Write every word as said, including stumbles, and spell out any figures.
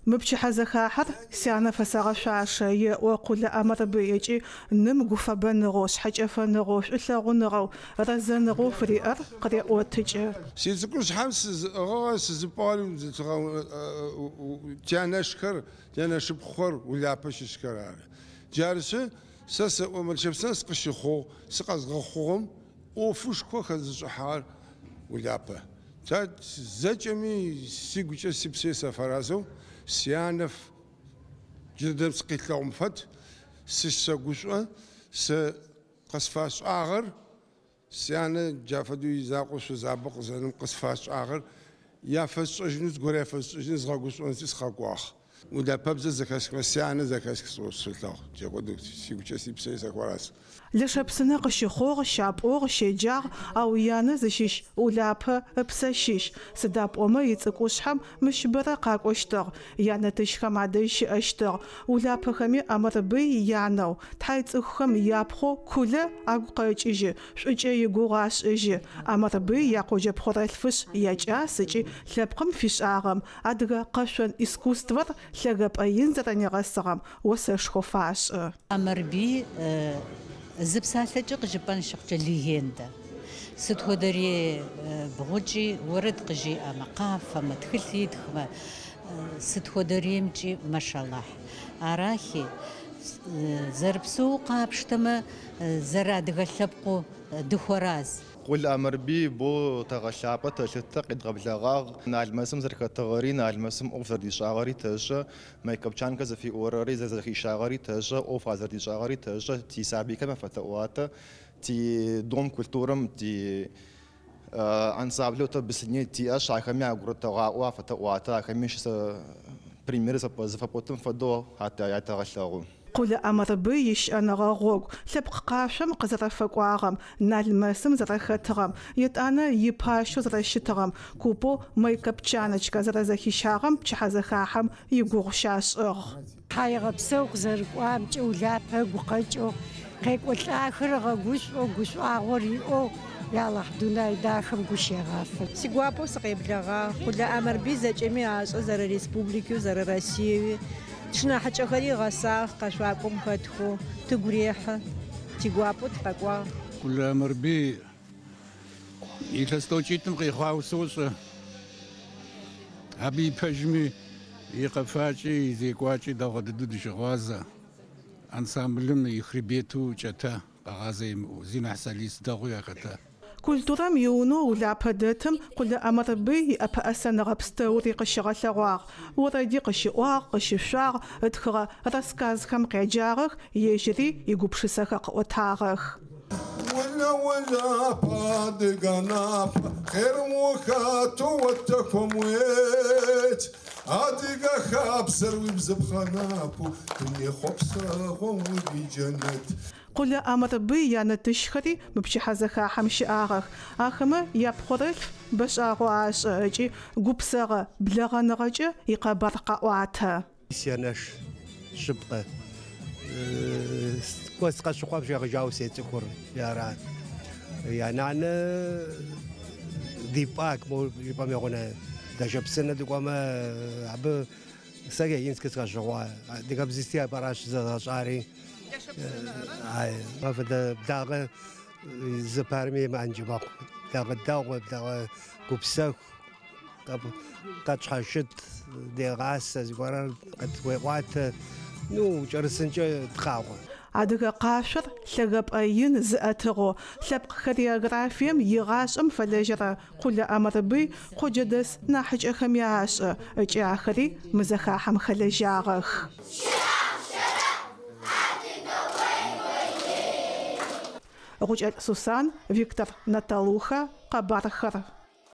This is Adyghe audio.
Мы пчыхьэзэхахьэр сянэ фэсэгъэшъуашэ еӏо Къулэ Амэрбый ыкӏи ным гуфэбэныгъэу, шъхьэкӏэфэныгъэу, шӏулъэгъуныгъэу, рэзэныгъэу фыриӏэр къыреӏотыкӏы. Сицӏыкӏушъхьэм сызыӏыгъыгъэ сызыпӏыгъэр тянэшхэр, тянэшыпхъухэр Улапэ щыщхэр ары. Джарышъы сэ сэӏо Лэшэпсынэ сыкъыщыхъугъ, сыкъэзгъэхъугъэм ӏофышхо хэзышӏыхьагъэр Улапэ. Зэкӏэми сигукӏэ сипсэ сафэразэу сянэ джыдэдэм сыкъилъэгъум фэд, сысэгушӏо, сэ къысфашӏагъэр сянэ джа фэдэу изакъоу шъузабэ къызэным къысфашӏагъэр яфэсшӏэжьынэу зыгорэ яфэсшӏэжьынэу згъэгушӏонти сыкъэкӏуагъ. Улапэбзэ зэхэсхымэ сянэ зэхэсх сэлъэгъу. Джэгъодэу сигукӏэ сипсэ сафэраз. Лэшэпсынэ къыщыхъугъ, щапӏугъ, щеджагъ, ау янэ зыщыщ Улапэ ыпсэ щыщ. Сыда пӏомэ ицӏыкӏушъхьэм мыщ бэрэ къакӏощтыгъ. Янэ тыщхэм адэжь щыӏэщтыгъ. Улапэхэми Амэрбый янэу, тхьай цӏыхухэм япхъоу Кулэ агу къэкӏыжьы, шӏукӏэ игугъу ашӏыжьы. Амэрбый якъоджэ пхъорэлъфышъ якӏас ыкӏи лъэпкъым фишӏагъэм адыгэ къэшъон искусствэр лъэгэпӏэ ин зэрэнигъэсыгъэм осэшхо фашӏы. Амэрбый зы псалъэкӏэ къыжыпӏэн щыхъукӏэ легендэ. Сыт хуэдэри бгъукӏи уэрэд къыжиӏэмэ, къафэмэ, тхылъ итхмэ, сыт хуэдэримкӏи машаллахь. Арахи зэрыпсэу къапщтэмэ, зэрыадыгэ лъэпкъыу дыхуэраз. Къулэ Амэрбый бо тэгъэлъапӏэ тэлъытэ къедгъэблэгъагъ. Налмэсым зэрэхэтыгъэри, Налмэсым ӏоф зэрдишӏагъэри тэшӏэ, Майкопчанкэ зыфиӏорэри зэрэзэхищагъэри тэшӏэ, ӏоф азэрдишӏагъэри тэшӏэ, тисабыйхэм афэтэӏуатэ, ти дом культурэм, ти ансамблэу тэ бысыне тиӏэшъ, ахэми агурытэгъаӏо афэтэӏуатэ, ахэми щысэ пример зыфэпӏотым фэдэу ятэгъэлъэгъу. Къулэ Амэрбый ищыӏэныгъэ гъогу лъэпкъ къашъом къызэрэфэкӏуагъэм, Налмэсым зэрэхэтыгъэм, етӏанэ ипащэу зэрэщытыгъэм, купэу Майкопчаночкэ зэрэзэхищагъэм пчыхьэзэхахьэм игугъу щашӏыгъ. Тхьаегъэпсэу къызэрыкӏуамкӏэ Улапэ ыгу къэкӏэу, къекӏолӏахэр ыгъэгушӏоу, гушӏуагъор иӏэу Ялахь дунай дахэм гущегъафэ. Сигуапэу сыкъеблэгъагъ. Къулэ Амэрбый зэкӏэми ашӏэ зэрэ республикэу, зэрэ Россиеуи. Тшынахьыкӏэхэри гъэсагъ, къэшъуакӏом хэтхэу, тыгу рехьы, тигуапэу тыкъэкӏуагъ. Къулэ Амэрбый илъэс тӏокӏитӏым къихъуауэ сощӏэ. Абы и пэжми, и къэфакӏи, и зекӏуакӏи дэгъуэ дыдэу дыщыгъуазэ. Ансамблым и хребету кӏэтэ къэгъазэ имыӏэу, зи нэхъ солист дэгъуи яхэтэ. Культурэм иунэу Улапэ дэтым Къулэ Амэрбый иӏэпэӏэсэныгъэ пстэури къыщигъэлъэгъуагъ. Орэди къыщиӏуагъ, къыщышъуагъ, ытхыгъэ рассказхэм къяджагъэх, ежьыри игупшысэхэр къыӏотагъэх. Улэ Улапэ адыгэ напэ, хъерым ухэту отэкум ует. Адыгэ хабзэр уибзыпхъэ напэу, дуней хъуэпсэгъуэм уиджэнэт. Къулэ Амэрбый янэ тыщхэри мы пчыхьэзэхахьэм щыӏагъэх. Ахэмэ япхъорэлъф бэшӏагъэу ашӏэ ыкӏи гупсэгъэ блэгъэныгъэкӏэ икъэбар къаӏуатэ. Сянэш шъыпкъэ. Кӏо сыкъэщыхъуам щегъэжьауэ сецӏыхур яра. Янанэ дипӏак мо жыпӏэм егъунэ Лэшэпсынэ дыкӏуэмэ абы сэ Ленинскэ сыкъэщыхъуа. Адыгэбзисти апӏэращ зэзгъэщӏари. Апхуэдэ благъэ зыпарми имыӏэнкӏэ мэхъу. Благъэ дэгъуэ, благъэ гупсэху, къэтщхьэщыт, дегъасэ, зыгуэрэр къытхуеӏуатэ, ну, кӏэрысынкӏэ тхъагъуэ. Адыгэ къашъор лъэгэпӏэ ин зыӏэтыгъэу, лъэпкъ хореографием игъашӏэм фэлэжьэрэ Къулэ Амэрбый къоджэдэс нахьыкӏэхэми ашӏэ, ыкӏи ахэри мы зэхахьэм хэлэжьагъэх. Гъукӏэлӏ Сусан, Виктор Наталуха, Къэбархэр.